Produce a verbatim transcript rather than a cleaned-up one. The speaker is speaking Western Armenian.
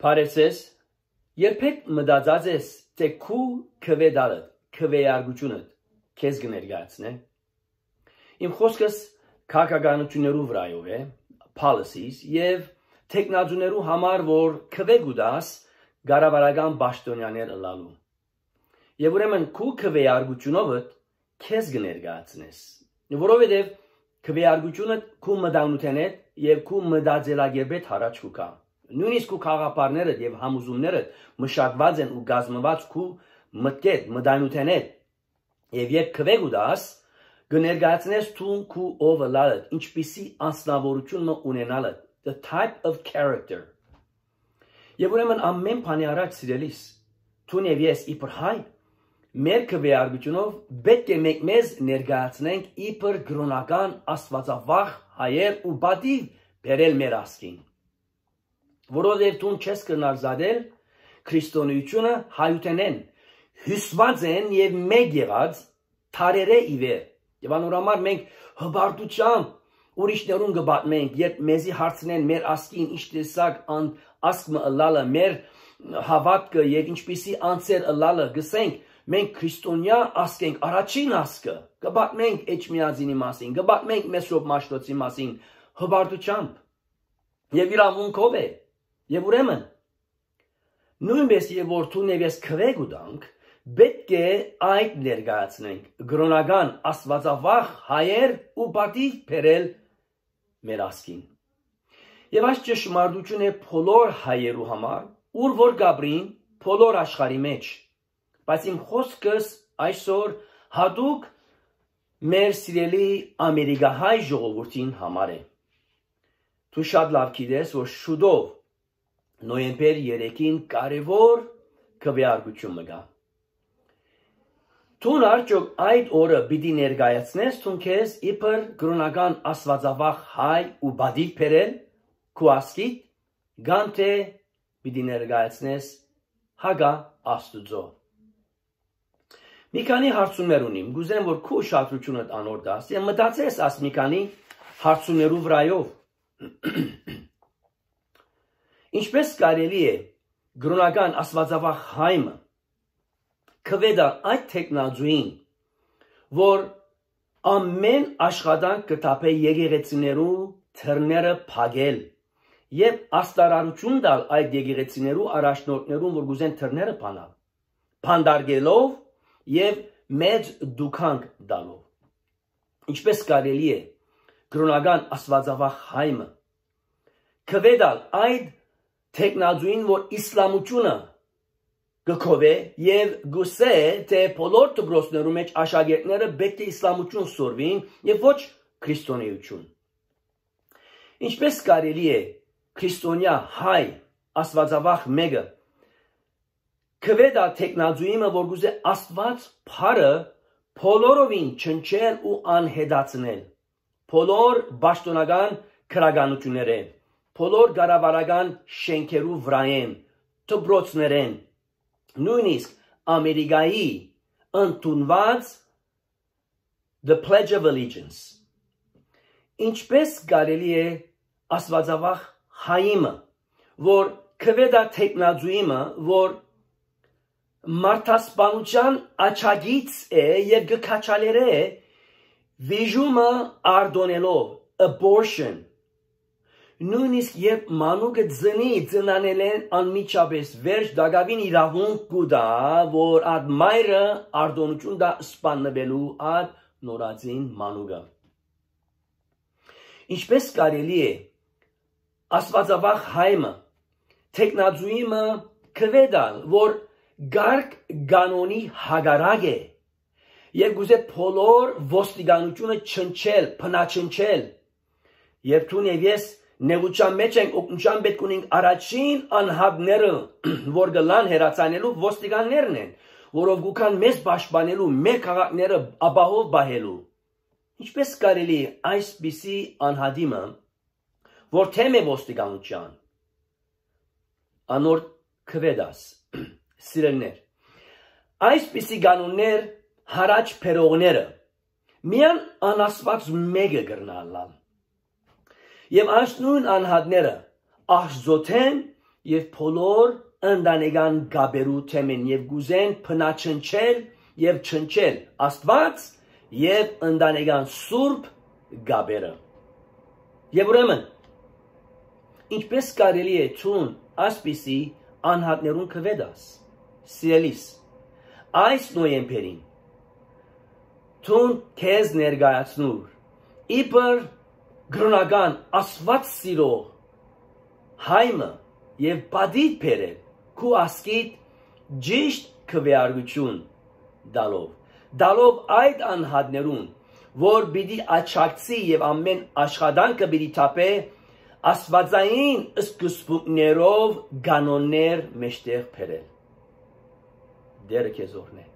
Բարեւ ձեզ, երբեք մտածած ես, թէ քու քուէ տալդ, քուէարկութիւնդ քեզ կը ներկայացնէ։ Իմ խօսքս քաղաքականութիւններու վրայով է, policies, եւ թեկնածուներու համար, որ քուէ կու տաս կառավարական պաշտօնեաներ ըլլալու։ Եւ ուրեմն քու քուէարկութիւնովդ քեզ կը ներկայացնես, որովհետեւ քուէարկութիւնը քու մտայնութենէդ եւ քու մտածելակերպէդ յառաջ կու գայ։ Նոյնիսկ քու գաղափարներդ եւ համոզումներդ մշակուած են ու կազմուած քու մտքէդ, մտայնութենէդ, եւ երբ քուէ կու տաս, կը ներկայացնես դուն քու ով ըլլալդ, ինչպիսի անձնաւորութիւն մը ունենալդ, the type of character։ Եւ ուրեմն ամէն բանի առաջ, սիրելիս, դուն եւ ես իբր հայ, մեր քուէարկութիւնով պէտք է մենք մեզ ներկայացնենք իբր կրօնական աստուածավախ հայեր ու պատիւ բերել մեր ազգին։ Որովհետեւ դուն չես կրնար զատել քրիստոնեությունը հայութենէն, հիւսուած են եւ մէկ եղած դարերէ ի վեր։ Եւ անոր համար մենք հպարտութեամբ ուրիշներուն կը պատմենք, երբ մեզի հարցնեն մեր ազգին ինչ տեսակ ան-, ազգ մը ըլլալը, մեր հաւատքը եւ ինչպիսի անձեր ըլլալը, կ'ըսենք, մենք քրիստոնեայ ազգ ենք, առաջին ազգը, կը պատմենք Էջմիածինի մասին, կը պատմենք Մեսրոպ Մաշտոցի մասին, հպարտութեամբ եւ իրաւունքով է։ Եւ ուրեմն, նոյնպէս եւ որ դուն եւ ես քուէ կու տանք, պէտք է այդ ներկայացնենք, կրօնական աստուածավախ հայեր ու պատիւ բերել մեր ազգին։ Եւ այս ճշմարտություն է բոլոր հայերու համար, ուր որ կ'ապրին, բոլոր աշխարհի մեջ։ Բայց իմ խօսքս այսօր յատուկ մեր սիրելի ամերիկահայ ժողովուրդին համար է։ Դու շատ լաւ գիտես, որ շուտով, նոյեմբեր երեքին, կարեւոր քուէարկութիւն մը կայ։ Դուն արդյոք այդ օրը պիտի ներկայացնես դուն քեզ իբր կրօնական աստուածավախ հայ ու պատիւ բերել քու ազգիդ, կամ թէ պիտի ներկայացնես հակա Աստուծոյ։ Մի քանի հարցումներ ունիմ, կ'ուզեմ, որ քու ուշադրութիւնդ անոր տաս եւ մտածես այս մի քանի հարցումներու վրայով։ Ինչպէս կարելի է կրօնական աստուածավախ հայ մը քուէ տալ այդ թեկնածուին, որ ամէն աշխատանք կը թափէ եկեղեցիներու դռները փակել եւ աստարարութիւն տալ այդ եկեղեցիներու առաջնորդներուն, որ կ'ուզեն դռները բանալ, բանտարկելով եւ մեծ դուքանք տալով։ Ինչպէս կարելի է կրօնական աստուածավախ հայ մը քուէ տալ այդ թեկնածուին, որ իսլամությունը կը քովէ եւ կ'ըսէ, թէ բոլոր դպրոցներու մէջ աշակերտները պէտք է իսլամություն սորվին եւ ոչ քրիստոնէություն։ Ինչպէս կարելի է քրիստոնեայ հայ աստուածավախ մէկը քուէ տալ թեկնածուի մը, որ կ'ուզէ Աստուած փառը բոլորովին չնչել ու անհետացնել, բոլոր պաշտօնական քրականութիւններէն, բոլոր կառավարական շէնքերու վրայէն, դպրոցներէն, նոյնիսկ Ամերիկայի ընդունուած the Pledge of Allegiance։ Ինչպէս կարելի է աստուածավախ հայ մը, որ քուէ տայ թեկնածուի մը, որ մարդասպանութեան աջակից է եւ կը քաջալերէ վիժումը արտոնելով, abortion, նոյնիսկ երբ մանուկը ծնի, ծնանելէն անմիջապէս վերջ տակաւին իրաւունք կու տայ, որ այդ մայրը արտոնութիւն տայ սպաննուելու այդ նորածին մանուկը։ Ինչպէս կարելի է աստուածավախ հայ մը, թեկնածուի մը քուէ տալ, որ կարգ կանոնի հակառակ է եւ կ'ուզէ բոլոր ոստիկանութիւնը չնչել, բնաչնչել։ Երբ դուն եւ ես նեղութեան մէջ ենք, օգնութեան պէտք ունենք առաջին անհատները, որ կ'ըլլան հեռացանելու, ոստիկաններն են, որով կու գան մեզ պաշտպանելու, մեր քաղաքները ապահով պահելու։ Ինչպէս կարելի է այսպիսի անհատի մը, որ թեմ է ոստիկանութեան, անոր քուէ տաս, սիրելիներ, այսպիսի կանոններ յառաջ բերողները միայն անաստուած մէկը կրնայ ըլլալ։ Եւ այս նոյն անհատները Աստուծոյ թեմ եւ բոլոր ընտանեկան կապերու թեմէն եւ կ'ուզեն բնաջնջել եւ ջնջել Աստուած եւ ընտանեկան սուրբ կապերը։ Եւ ուրեմն, ինչպէս կարելի է դուն այսպիսի անհատներուն կուետաս, սիրելիս, այս նոյեմբերին դուն քեզ ներկայացնուր իբր կրօնական Աստուած սիրող հայ մը եւ պատիւ բերել քու ազգիդ ճիշտ քուեարկութիւն տալով, տալով այդ անհատներուն, որ պիտի աջակցի եւ ամէն աշխատանքը պիտի թափէ աստուածային սկզբունքներով կանոններ մէջտեղ բերել։ Տէրը քեզ օրհնէ։